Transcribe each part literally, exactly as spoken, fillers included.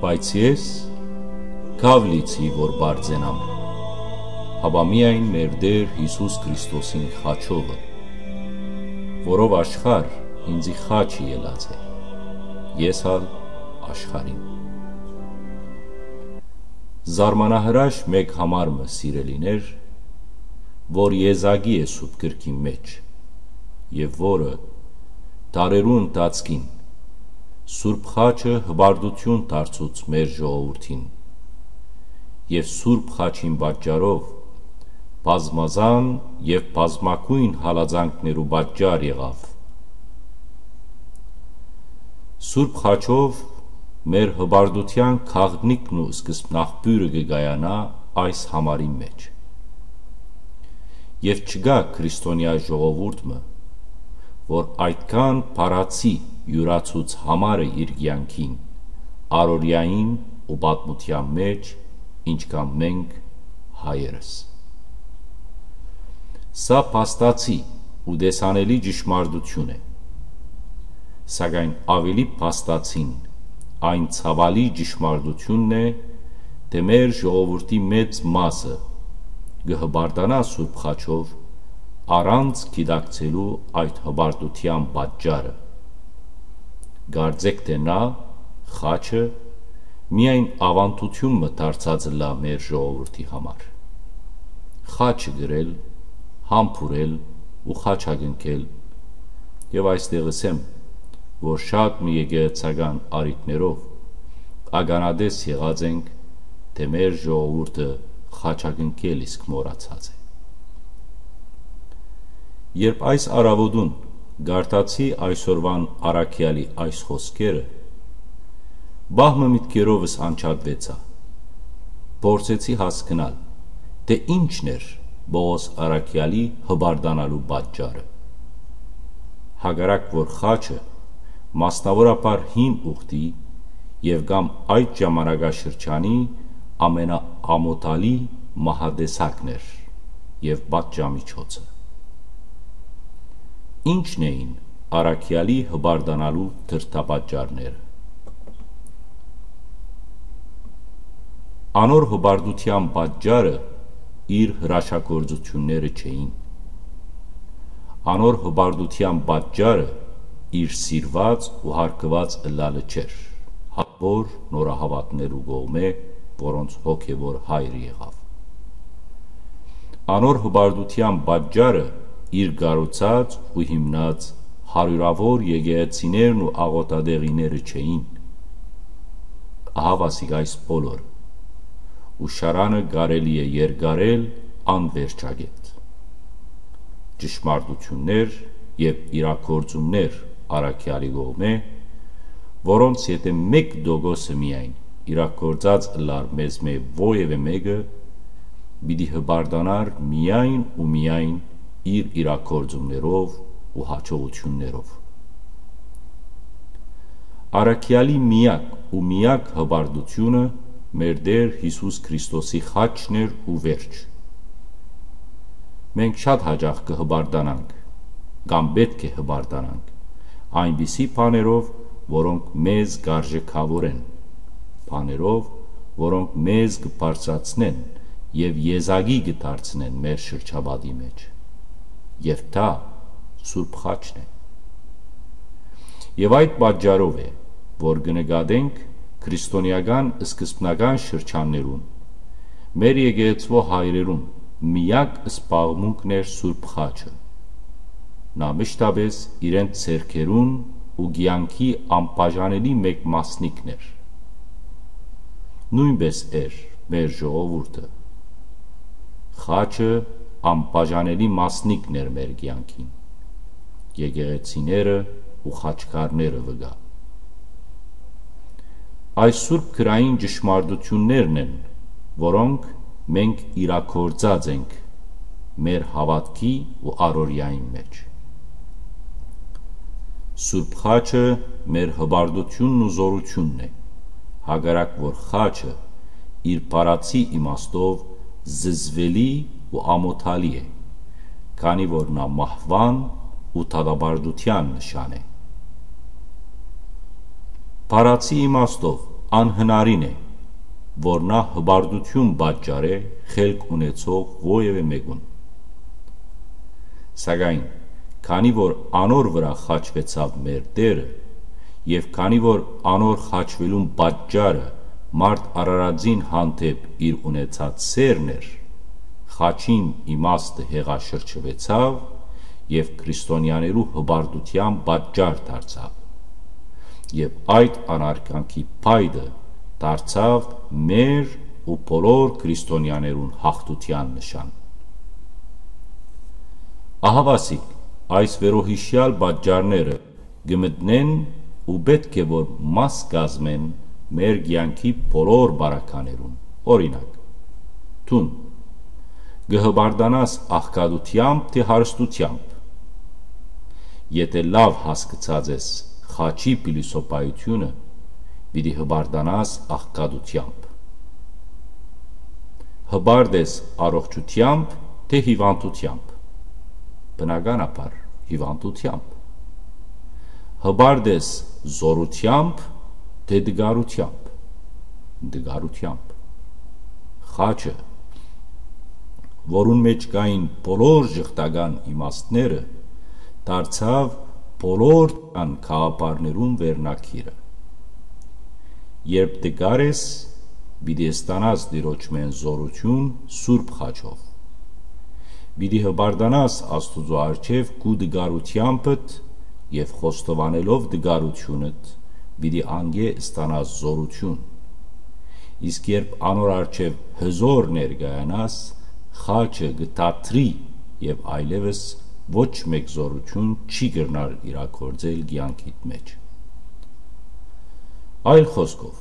Բայց ես քաւ լիցի որ պարծենամ, հապա միայն մեր Տէր Յիսուս Քրիստոսին խաչովը, որով աշխարհ ինծի խաչը ելած է, ես ալ աշխարհին։ Զարմանահրաշ մէկ համար մը, սիրելիներ, որ եզակի է Սուրբ Գրքին մէջ, եւ որը դարերու ընթացքին Սուրբ Խաչը հպարտութիւն դարձուց մեր ժողովուրդին, եւ Սուրբ Խաչին պատճառով բազմազան եւ բազմագոյն հալածանքներու պատճառ եղաւ։ Սուրբ Խաչով մեր հպարտութեան գաղտնիքն ու սկզբնաղբիւրը կը կայանայ այս համարին մէջ։ Եւ չկայ քրիստոնեայ ժողովուրդ մը, որ այդքան փառացի իւրացուց համարը իր կեանքին, առօրեային ու պատմութեան մէջ, ինչքան մենք հայերս։ Սա փաստացի ու տեսանելի ճշմարտութիւն է, սակայն աւելի փաստացին այն ցաւալի ճշմարտութիւնն է, թէ մեր ժողովուրդի մեծ մասը կը հպարտանայ Սուրբ Խաչով, առանց գիտակցելու այդ հպարտութեան պատճառը։ Կարծէք թէ նա, խաչը, միայն աւանդութիւն մը դարձած ըլլայ մեր ժողովուրդի համար։ Խաչը կրել, համբուրել ու խաչակնքել, եւ այստեղ ըսեմ, որ շատ մը եկեղեցական առիթներով ականատես եղած ենք, թէ մեր ժողովուրդը խաչակնքել իսկ մոռացած է։ Երբ այս առաւօտուն կարդացի այսօրուան առաքեալի այս խօսքերը, պահ մը միտքերովս անջատուեցայ։ Փորձեցի հասկնալ, թէ ինչն էր Պողոս առաքեալի հպարտանալու պատճառը։ Հակառակ որ խաչը, մասնաւորաբար հին ուխտի եւ կամ այդ ժամանակաշրջանի ամենաամօթալի մահատեսակն էր եւ պատժամիջոցը։ Ինչն էին առաքեալի հպարտանալու դրդապատճառները։ Անոր հպարտութեան պատճառը իր հրաշագործութիւնները չէին։ Անոր հպարտութեան պատճառը իր սիրուած ու հարգուած ըլլալը չէր, հապոր նորահաւատներու կողմէ, որոնց հոգեւոր հայրը եղաւ։ Անոր հպարտութեան պատճառը իր կառուցած ու հիմնած հարիւրաւոր եկեղեցիներն ու աղօթատեղիները չէին։ Ահա ասիկ այս բոլորը, ու շարանը կարելի է երկարել անվերջագետ։ Ճշմարտութիւններ եւ իրագործումներ առաքեալի կողմէ, որոնց եթէ մէկ տոկոսը միայն իրագործած ըլլար մեզմէ որեւէ մէկը, պիտի հպարտանար միայն ու միայն իր իրագործումներով ու հաջողութիւններով։ Առաքեալի միակ ու միակ հպարտութիւնը մեր Տէր Յիսուս Քրիստոսի խաչն էր ու վերջ։ Մենք շատ յաճախ կը հպարտանանք, կամ պէտք է հպարտանանք, այնպիսի բաներով, որոնք մեզ կ'արժեքաւորեն, բաներով, որոնք մեզ կը բարձրացնեն եւ եզակի կը դարձնեն մեր շրջապատի մէջ։ Եւ դա Սուրբ Խաչն է։ Եւ այդ պատճառով է, որ կը նկատենք քրիստոնեական սկզբնական շրջաններուն մեր եկեղեցւոյ հայրերուն միակ զբաղմունքն էր Սուրբ Խաչը։ Նա մշտապէս իրենց ձեռքերուն ու կեանքի անբաժանելի մէկ մասնիկն էր։ Նոյնպէս էր մեր ժողովուրդը։ Խաչը անբաժանելի մասնիկն էր մեր կեանքին, եկեղեցիները ու խաչքարները վկայ։ Այս սուրբ գրային ճշմարտութիւններն են, որոնք մենք իրագործած ենք մեր հաւատքի ու առօրեային մէջ։ Սուրբ Խաչը մեր հպարտութիւնն ու զօրութիւնն է, հակառակ որ խաչը իր փառացի իմաստով զզվելի ու ամօթալի է, քանի որ նա մահուան ու դատապարտութեան նշան է։ Փառացի իմաստով անհնարին է, որ նա հպարտութիւն պատճառէ խելք ունեցող որեւէ մէկուն։ Սակայն քանի որ անոր վրայ խաչուեցաւ մեր Տէրը, եւ քանի որ անոր խաչուելուն պատճառը մարդ արարածին հանդէպ իր ունեցած սէրն էր, խաչին իմաստը հեղաշրջուեցաւ եւ քրիստոնեաներու հպարտութեան պատճառ դարձաւ։ Եւ այդ անարգանքի փայտը դարձաւ մեր ու բոլոր քրիստոնեաներուն յաղթութեան նշան։ Ահաւասիկ, այս վերոյիշեալ պատճառները կը մտնեն ու պէտք է որ մաս կազմեն մեր կեանքի բոլոր բարականերուն։ Օրինակ, դուն կը հպարտանաս աղքատութեամբ թէ հարստութեամբ։ Եթէ լաւ հասկցած ես խաչի փիլիսոփայութիւնը, պիտի հպարտանաս աղքատութեամբ։ Հպարտ ես առողջութեամբ թէ հիւանդութեամբ։ Բնականաբար, հիւանդութեամբ։ Հպարտ ես զօրութեամբ թէ տկարութեամբ։ Տկարութեամբ։ Խաչը, որուն մէջ կային բոլոր ժխտական իմաստները, դարձաւ բոլոր կան գաղափարներուն վերնագիրը։ Երբ տկար ես, պիտի ստանաս Տիրոջմէն զօրութիւն սուրբ խաչով։ Պիտի հպարտանաս Աստուծոյ առջեւ քու տկարութեամբդ եւ խոստովանելով տկարութիւնդ, պիտի անկէ ստանաս զօրութիւն։ Իսկ երբ անոր առջեւ հզօր ներկայանաս, խաչը կը դադրի եւ այլեւս ոչ մէկ զօրութիւն չի կրնար իրագործել կեանքիդ մէջ։ Այլ խօսքով,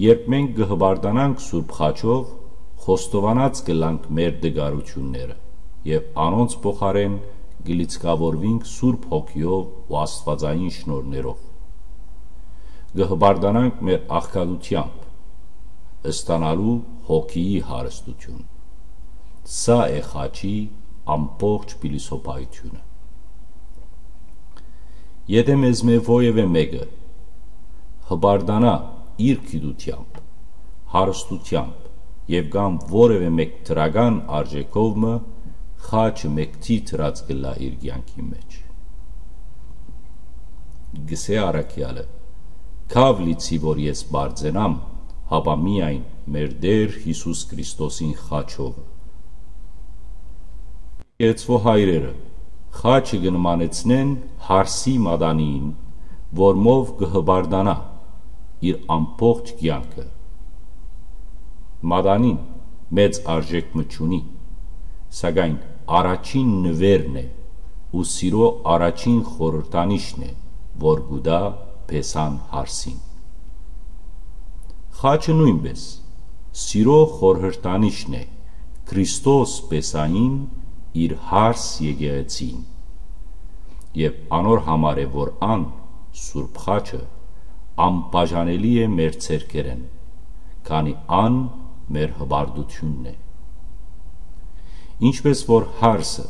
երբ մենք կը հպարտանանք Սուրբ Խաչով, խոստովանած կ'ըլլանք մեր տկարութիւնները եւ անոնց փոխարէն կը լիցքաւորուինք Սուրբ Հոգիով ու աստուածային շնորհներով։ Կը հպարտանանք մեր աղքատութեամբ, ստանալու հոգիի հարստութիւն։ Սա է խաչի ամբողջ փիլիսոփայութիւնը։ Եթէ մեզմէ որեւէ մէկը հպարտանայ իր գիտութեամբ, հարստութեամբ եւ կամ որեւէ մէկ դրական արժէքով մը, խաչը մեկցի դրած կ'ըլլայ իր կեանքի մէջ։ Գսէ առաքեալը. «Քաւ լիցի որ ես պարծենամ, հապա միայն մեր Տէր Յիսուս Քրիստոսին խաչովը»։ Եկեղեցւոյ հայրերը խաչը կը նմանեցնեն հարսի մատանին, որմով կը հպարտանայ իր ամբողջ կեանքը։ Մատանին մեծ արժէք մը չունի, սակայն առաջին նուէրն է ու սիրո առաջին խորհրդանիշն է, որ կու տայ փեսան հարսին։ Խաչը նոյնպէս սիրո խորհրդանիշն է Քրիստոս փեսային իր հարս եկեղեցին, եւ անոր համար է, որ ան, Սուրբ Խաչը, անբաժանելի է մեր ձեռքերէն, քանի ան մեր հպարտութիւնն է։ Ինչպէս որ հարսը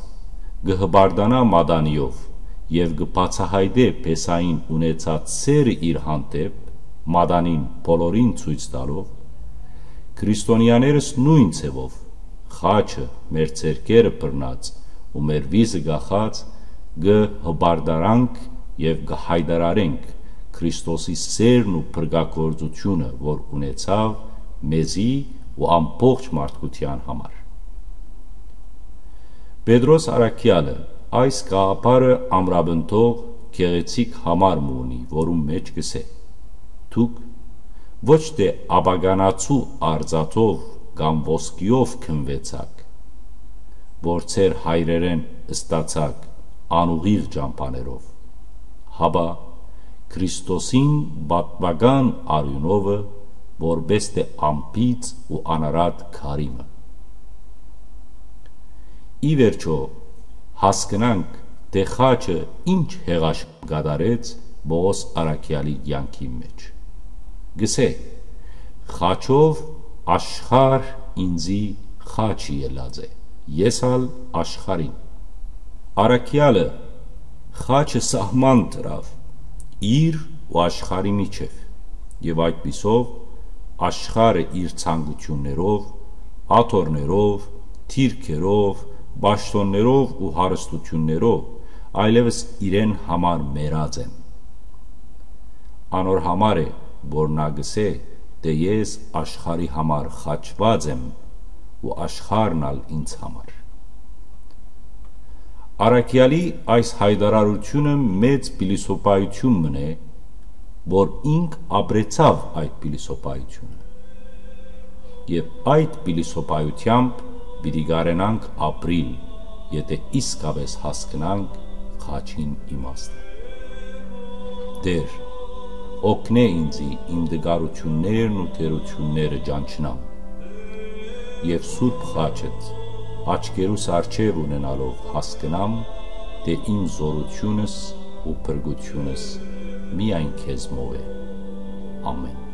կը հպարտանայ մատանիով եւ կը բացայայտէ փեսային ունեցած սէրը իր հանդէպ, մատանին բոլորին ցոյց տալով, քրիստոնեաներս նոյն ձեւով խաչը մեր ձեռքերը բռնած ու մեր վիզը կախած, կը հպարտանանք եւ կը յայտարարենք Քրիստոսի սէրն ու փրկագործութիւնը, որ ունեցաւ մեզի ու ամբողջ մարդկութեան համար։ Պետրոս առաքեալը այս գաղափարը ամրապնդող գեղեցիկ համար մը ունի, որուն մէջ կ'ըսէ. «Դուք ոչ թէ ապականացու արծաթով կամ ոսկիով քնուեցաք, որ ձեր հայրերէն ստացաք անուղիղ ճամբաներով, հապա Քրիստոսին պատմական արիւնովը, որպէս թէ անբիծ ու անարատ քարի մը»։ Ի վերջոյ, հասկնանք թէ խաչը ինչ հեղաշ կատարեց Պողոս առաքեալի կեանքի մէջ։ Կ'ըսէ. «Խաչով աշխարհ ինծի խաչ ելած է, ես ալ աշխարհին»։ Առաքեալը խաչը սահման դրաւ իր ու աշխարհի միջեւ, եւ այդպիսով Աշխարհը իր ցանկութիւններով, աթոռներով, դիրքերով, պաշտօններով ու հարստութիւններով այլեւս իրեն համար մեռած են։ Անոր համար է, որ նա կ'ըսէ թէ ես աշխարհի համար խաչուած եմ ու աշխարհն ալ ինձ համար։ Առաքեալի այս յայտարարութիւնը մեծ փիլիսոփայութիւն մըն է, որ ինք ապրեցաւ այդ փիլիսոփայութիւնը։ Եւ այդ փիլիսոփայութեամբ պիտի կարենանք ապրիլ, եթէ իսկապէս հասկնանք խաչին իմաստը։ Տէր, օգնէ ինծի իմ տկարութիւններն ու թերութիւնները ճանչնամ եւ Սուրբ Խաչդ աչքերուս առջեւ ունենալով հասկնամ թէ իմ զօրութիւնս ու փրկութիւնս միայն քեզմով է։ Ամէն։